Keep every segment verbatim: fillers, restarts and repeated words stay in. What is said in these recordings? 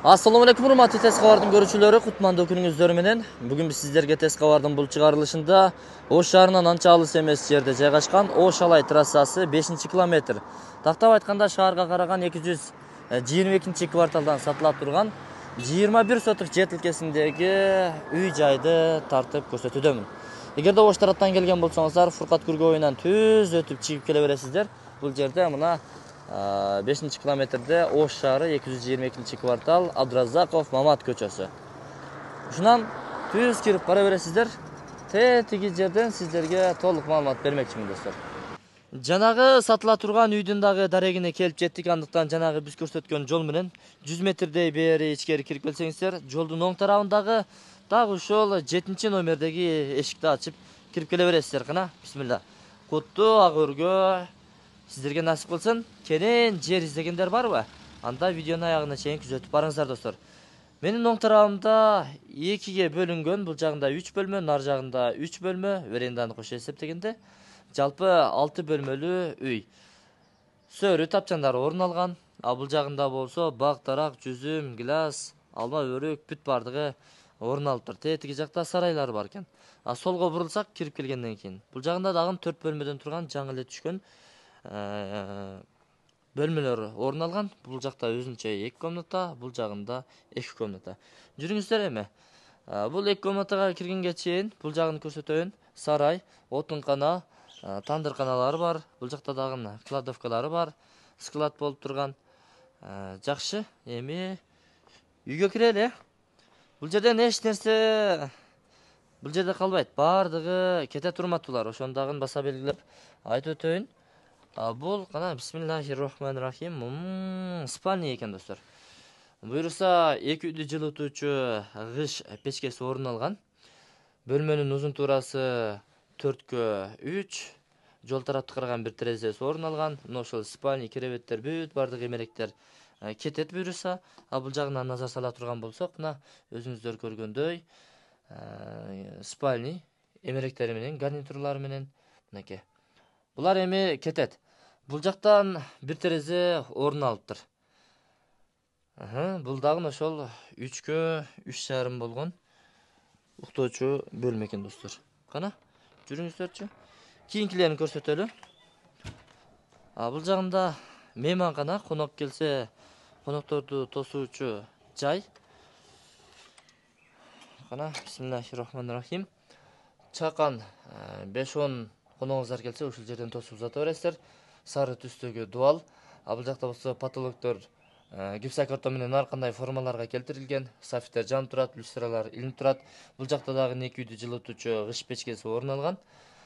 Assalamu alaikum урматтуу Тез кабардын көрүүчүлөрү, кутмандуу күнүңүздөр менен. Бүгүн биз сиздерге Тез кабардын бул чыгарылышында Ош шаарынан анча алыс эмес жерде жайгашкан Ош Алай трассасы бешинчи километр. Тактап айтканда шаарга караган эки жүз жыйырма экинчи кварталдан сатыла турган жыйырма бир соток жер тилкесиндеги үй жайды тартып көрсөтүүдөмүн. Эгерде Ош тараптан келген болсоңуздар, Фуркат Күргө боюнан түз өтүп чыгып келе бересиздер. Бул жерде мына бешинчи километрде Ош шаары эки жүз жыйырма экинчи квартал Абдразаков Мамат көчөсү. Ушунан түз кирип бара бересиздер. Тетиги жерден сиздерге толук маалымат бермекчимин достор. Жанагы сатыла турган үйдүн дагы дарегине келип жеттик. Андыктан жанагы биз көрсөткөн жол менен жүз метрдей бери ичкери кирип келсеңиздер, жолдун оң тарабындагы дагы ушул жетинчи номердеги эшикти ачып кирип келе бересиздер. Кана, бисмилла. Куттуу ак өргө сиздерге насип кылсын. Кенен жер издегендер барбы? Анда видеонун аягына чейин күзөтүп барыңыздар достор. Менин оң тарабымда экиге бөлүнгөн, бул жагында үч бөлмө, нар жагында үч бөлмө, веренданы кошо эсептегенде жалпы алты бөлмөлүү үй. Сөрү тапчандары орун алган. А бул жагында болсо бак, дарак, жүзүм, гилас, алма, өрүк бүт бардыгы орун алып тур. Тетиги жакта сарайлар бар экен. А солго бурулсак, кирип келгенден кийин бул жагында дагы төрт бөлмөдөн турган жаңы эле түшкөн бөлмөлөр орун алган. Бул жакта өзүнчө эки комната, бул жагында эки комната. Жүрүңүздөр эми. Бул эки комнатага киргенге чейин бул жагын көрсөтөйүн. Сарай, отункана, тандырканалары бар. Бул жакта дагы кладовкалары бар. Склад болуп турган. Жакшы. Эми үйгө кирели. Бул жерден эч нерсе бул жерде калбайт. Бардыгы кете турматтуулар. Ошону дагы баса белгилеп айтып өтөйүн. Бул кана бисмиллахир-рахманир-рахим. Спальня экен достор. Буюрса эки үйдү жылытуучу кыш печкеси орун алган. Бөлмөнүн узун туурасы төрткө үч. Жол тарапты караган бир терезеси орун алган. Мына ошол спальня, керебеттер бүт бардык эмеректер кетет буюрса. А бул жагынан назар сала турган болсок, мына өзүңүздөр көргөндөй спальня эмеректери менен, гарнитурлары менен мынакей. Булар эми кетет. Бул жактан бир терезе орун алыптыр. Бул дагы ошол үчкө үч жарым болгон уктоочу бөлмө экен достор. Кана, жүрүңүздөрчү. Кийинкилерин көрсөтөлү. А бул жагында мейманкана, конок келсе, конокторду тосуучу жай. Кана, бисмиллахир-рахманир-рахим. Чакан беш он коногуңуздар келсе, ушул жерден тосуп узата бересиздер. Сары түстөгү дубал. А бул жакта болсо потолоктор гипсокартон менен ар кандай формаларга келтирилген. Софиттер жанып турат, люстралар илинип турат. Бул жакта дагы эки үйдү жылытуучу кыш печкеси орун алган.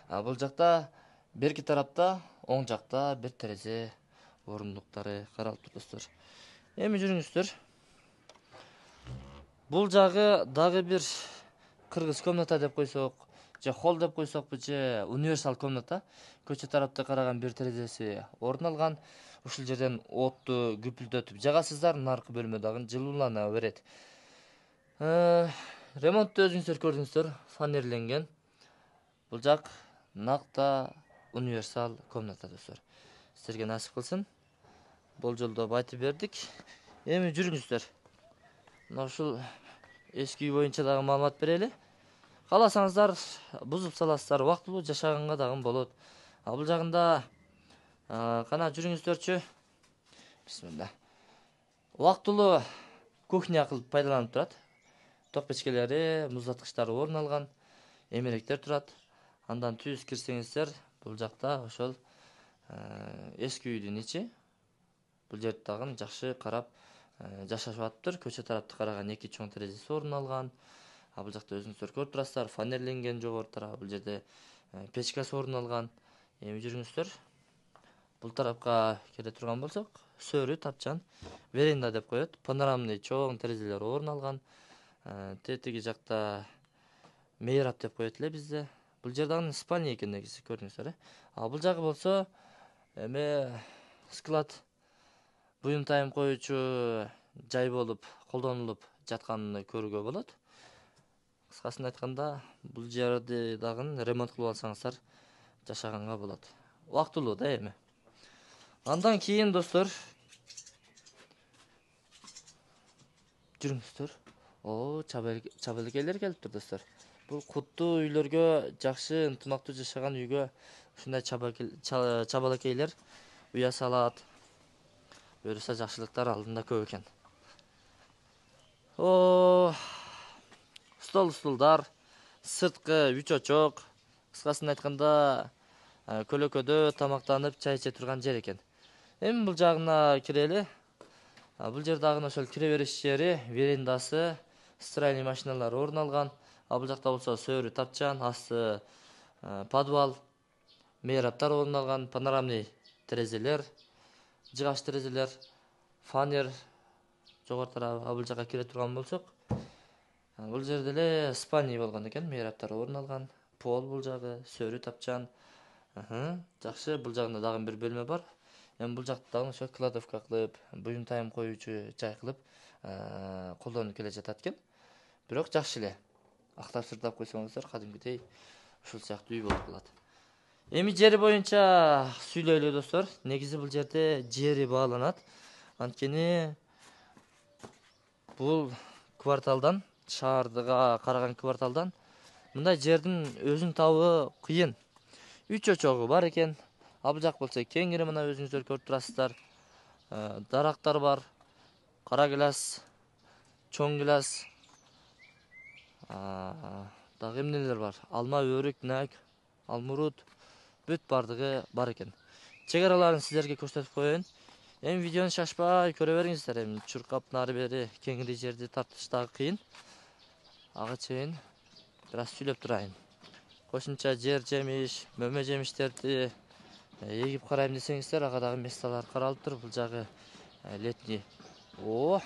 А бул жакта берки тарапта оң жакта бир терезе орундуктары каралып тур достор. Эми жүрүңүздөр. Бул жагы дагы бир кыргыз комната деп койсок, же холл деп койсокпу, же универсал комната. Көчө тарапты караган бир терезеси орун алган. Ушул жерден отту күпүлдөтүп жагасыздар. Наркы бөлмө дагы жылуулана берет. Ремонтту өзүңүздөр көрдүңүздөр, фанерленген. Бул жак накта универсал комната достор. Сиздерге насип кылсын. Болжолдоп айтып бердик. Эми жүрүңүздөр. Мына ушул эски үй боюнча дагы маалымат берели. Кааласаңыздар бузуп саласыздар, убактылуу жашаганга дагы болот. А бул жагында кана жүрүңүздөрчү. Бисмилла. Убактылуу кухня кылып пайдаланып турат. Ток печкелери, муздаткычтары орун алган. Эмеректер турат. Андан түз кирсеңиздер, бул жакта ошол эски үйдүн ичи. Бул жерди дагы жакшы карап жашашып атыптыр. Көчө тарапты караган эки чоң терезеси орун алган. А бул жакта өзүңүздөр көрүп турасыздар, фанерленген жогору тарабы. Бул жерде печкасы орун алган. Эми жүрүңүздөр. Бул тарапка келе турган болсок, сөрү тапчан веранда деп коет. Панорамный чоң терезелер орун алган. Тетиги жакта мейрап деп коет эле бизде. Бул жерден спальня экен негизи, көрдүңүздөр э. А бул жагы болсо эме склад буюм-тайым коючу жай болуп колдонулуп жатканын көрүүгө болот. Кыскасын айтканда, бул жерди дагы ремонт кылып алсаңыздар жашаганга болот. Убактылуу да эми. Андан кийин достор жүрүңүздөр. О, чабалыкейлер келиптир достор. Бул куттуу үйлөргө, жакшы ынтымактуу жашаган үйгө ушундай чабалыкейлер уя салат. Буюрса жакшылыктар алдында көп экен. О, стол стулдар, сырткы үч очок, кыскасын айтканда көлөкөдө тамактанып чай иче турган жер экен. Эми бул жагына кирели. Бул жер дагы ошол кире бериш жери, верендасы, стиральный машиналар орун алган. А бул жакта болсо сөөрү тапчан, асты подвал, мейраптар орун алган, панорамный терезелер, жыгач терезелер, фанер жогору тарабы. А бул жака кире турган болсок, бул жерде эле спальня болгон экен, мейраптар орун алган, пол бул жагы, сөөрү тапчан. Жакшы, бул жагында дагы бир бөлмө бар. Эми бул жакты дагы ошо кладовка кылып, буюм тайым коюучу жай кылып колдонуп келе жатат экен. Бирок жакшы эле. Актап сырдап койсоңуздар, кадимкидей ушул сыяктуу үй болуп калат. Эми жери боюнча сүйлөйлү достор. Негизи бул жерде жери бааланат. Анткени бул кварталдан, шаардыга караган кварталдан мындай жердин өзүн табуу кыйын. Үч очогу бар экен. А бул жак болсо кеңири, мына өзүңүздөр көрүп турасыздар. Дарактар бар. Кара гилас, чоң гилас. Дагы эмнелер бар? Алма, өрүк, нак, алмурут, бүт бардыгы бар экен. Чек араларын сиздерге көрсөтүп коеюн. Эми видеону шашпай көрө бериңиздер. Эми чуркап нары бери кеңири жерди тартыш дагы кыйын. Ага чейин бир аз сүйлөп турайын. Кошумча жер жемиш, мөмө жемиштерди эгип карайм десеңиздер, ага дагы месталар каралыптыр. Бул жагы летний. О,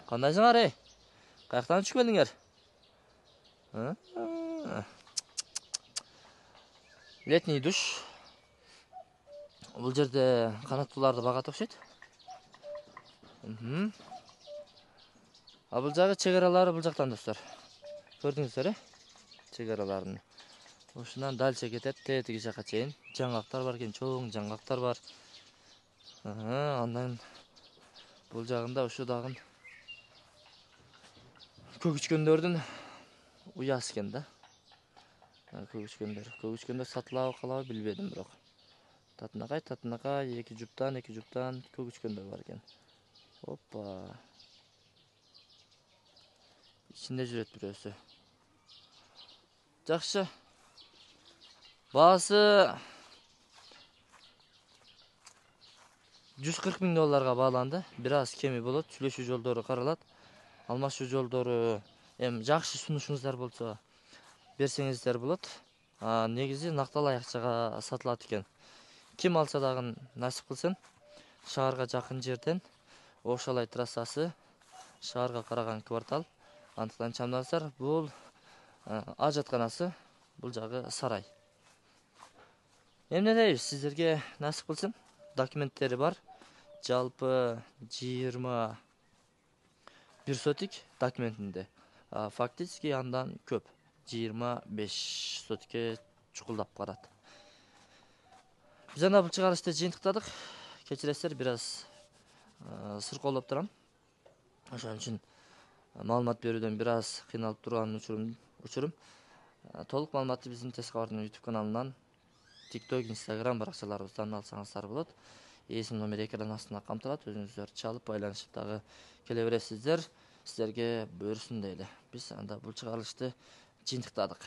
кандайсыңар, эй? Каяктан түшүп келдиңер? Летний душ. Бул жерде канаттууларды багат окшойт. А бул жагы чек аралары бул жактан достор. Көрдүңүздөр, э? Чек араларын. Ушунан дальше кетет, тетиги жака чейин. Жаңгактар бар экен, чоң жаңгактар бар. Андан бул жагында ушу дагы көгүчкөндөрдүн уясы экен да. Көгүчкөндөр, көгүчкөндөр сатылабы калабы билбедим, бирок. Татынакай, татынакай, эки жуптан, эки жуптан көгүчкөндөр бар экен. Опа. Ичинде жүрөт бирөөсү. Жакшы. Баасы жүз кырк миң долларга бааланды. Бир аз кеми болот, сүйлөшүү жолдору каралат. Алмашуу жолдору, эми жакшы сунушуңуздар болсо берсеңиздер болот. Негизи накталай акчага сатылат экен. Ким алса дагы насип кылсын. Шаарга жакын жерден Ошалай трассасы, шаарга караган квартал. Антыктан чамдаңыздар, бул ажатканасы, бул жагы сарай. Эмне дейбиз, сиздерге насип кылсын. Документтери бар. Жалпы жыйырма бир сотик документинде. Фактически андан көп. жыйырма беш сотикке чукулдап барат. Биз анда бул чыгарышты жыйынтыктадык. Кечиресиздер, бир аз сыркоолоп турам. Ошон үчүн маалымат берүүдөн бир аз кыйналып турган учурум. Толук маалыматты биздин Тез Кабардын YouTube каналынан, TikTok, Instagram баракчаларыбыздан алсаңыздар болот. Эсим номер экран астында камтылат. Өзүңүздөр чалып байланышып дагы келе бересиздер. Сиздерге буйрсун дейли. Биз анда бул чыгарылышты жыйынтыктадык.